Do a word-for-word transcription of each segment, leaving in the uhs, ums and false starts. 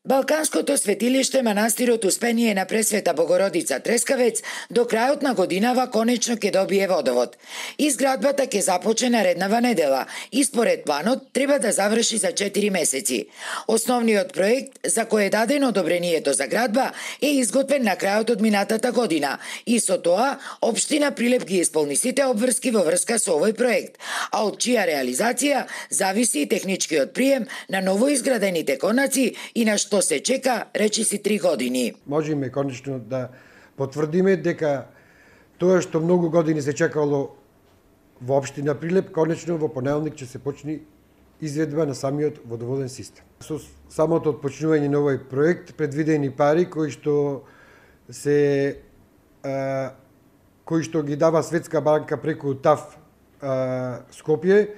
Балканското светилиште манастирот Успение на Пресвета Богородица Трескавец до крајот на годинава конечно ќе добие водовод. Изградбата ќе започне нареднава недела и според планот треба да заврши за четири месеци. Основниот проект за кој е дадено одобрението за градба е изготвен на крајот од минатата година и со тоа општина Прилеп ги исполни сите обврски во врска со овој проект, а од чија реализација зависи и техничкиот прием на новоизградените конаци и на што се чека речиси три години. Можеме конечно да потврдиме дека тоа што многу години се чекало во општина Прилеп, конечно во понеделник ќе се почне изведба на самиот водоводен систем. Со самото отпочнување на овој проект предвидени пари кои што се а, кои што ги дава Светска банка преку ТАФ а, Скопје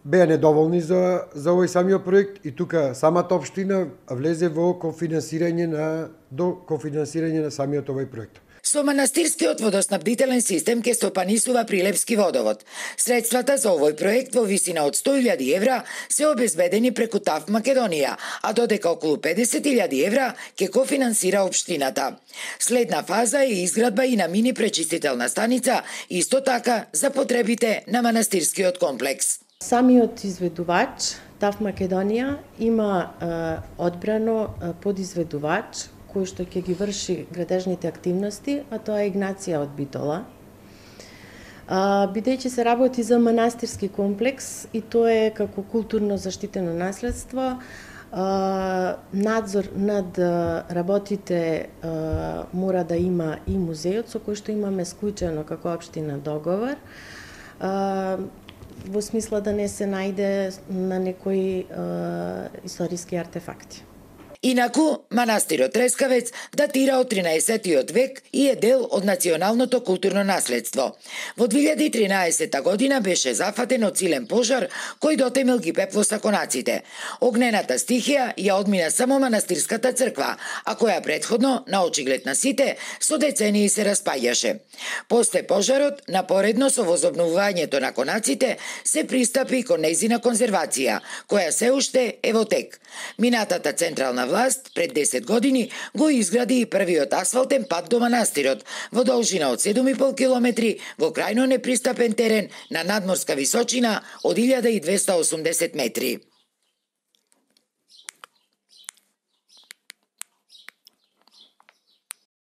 беа недоволни за, за овој самиот проект и тука самата општина влезе во кофинансирање на до кофинансирање на самиот овој проект. Со манастирскиот водоснабдителен систем ќе стопанисува Прилепски водовод. Средствата за овој проект во висина од сто илјади евра се обезбедени преку ТАФ Македонија, а додека околу педесет илјади евра ќе кофинансира општината. Следна фаза е изградба и на мини пречистителна станица, исто така за потребите на манастирскиот комплекс. Самиот изведувач, ТАФ Македонија, има е, одбрано е, подизведувач кој што ќе ги врши градежните активности, а тоа е Игнација од Битола. Бидејќи се работи за манастирски комплекс и тоа е како културно заштитено наследство, а, надзор над работите а, мора да има и музеот, со кој што имаме склучено како општина договор, а, во смисла да не се најде на некои а, историски артефакти. Инаку, манастирот Трескавец датира од тринаесеттиот век и е дел од националното културно наследство. Во две илјади и тринаесетта година беше зафатен од силен пожар кој дотемил ги пеплоса конаците. Огнената стихија ја одмина само манастирската црква, а која претходно, на очиглед на сите, со децении се распаѓаше. После пожарот, напоредно со возобновувањето на конаците, се пристапи кон нејзина конзервација, која се уште е во тек. Минатата централна власт пред десет години го изгради и првиот асфалтен пат до манастирот во должина од седум и пол километри во крајно непристапен терен на надморска височина од илјада и двесте и осумдесет метри.